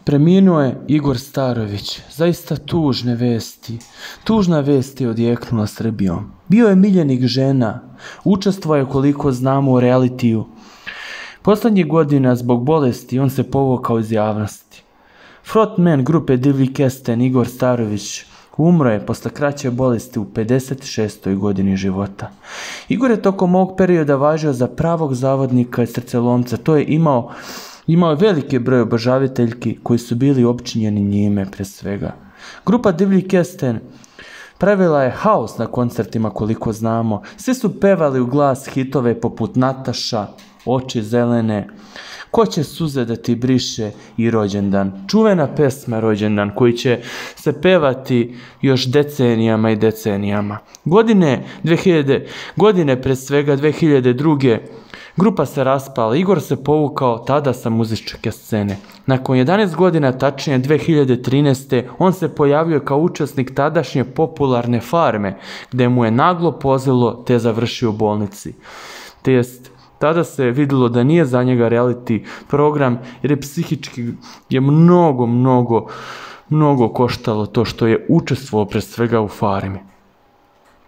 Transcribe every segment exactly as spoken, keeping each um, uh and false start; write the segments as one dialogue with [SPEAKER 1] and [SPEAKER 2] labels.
[SPEAKER 1] Preminuo je Igor Starović, zaista tužne vesti. Tužna vest je odjeknula Srbijom. Bio je miljenik žena, učestvovao je koliko znamo u realitiju. Poslednjih godina zbog bolesti on se povukao iz javnosti. Frontman grupe Divlji Kesten Igor Starović umro je posle kraće bolesti u pedeset šestoj godini života. Igor je tokom ovog perioda važio za pravog zavodnika i srcelomca. To je imao Imao je veliki broj obožaviteljki koji su bili opčinjeni njime pre svega. Grupa Divlji Kesten pravila je haos na koncertima koliko znamo. Svi su pevali u glas hitove poput Nataša, Oči zelene, Ko će suze da ti briše i Rođendan. Čuvena pesma Rođendan koji će se pevati još decenijama i decenijama. Godine dve hiljade, godine pre svega dve hiljade druge. Grupa se raspala, Igor se povukao tada sa muzičke scene. Nakon jedanaest godina, tačnije dve hiljade trinaeste. on se pojavio kao učesnik tadašnje popularne Farme, gde mu je naglo pozelo te završio u bolnici. Te jest, tada se videlo da nije za njega reality program, jer je psihički je mnogo, mnogo, mnogo koštalo to što je učestvovao pre svega u Farmi.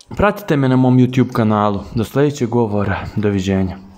[SPEAKER 1] Pratite me na mom YouTube kanalu. Do sledećeg govora. Doviđenja.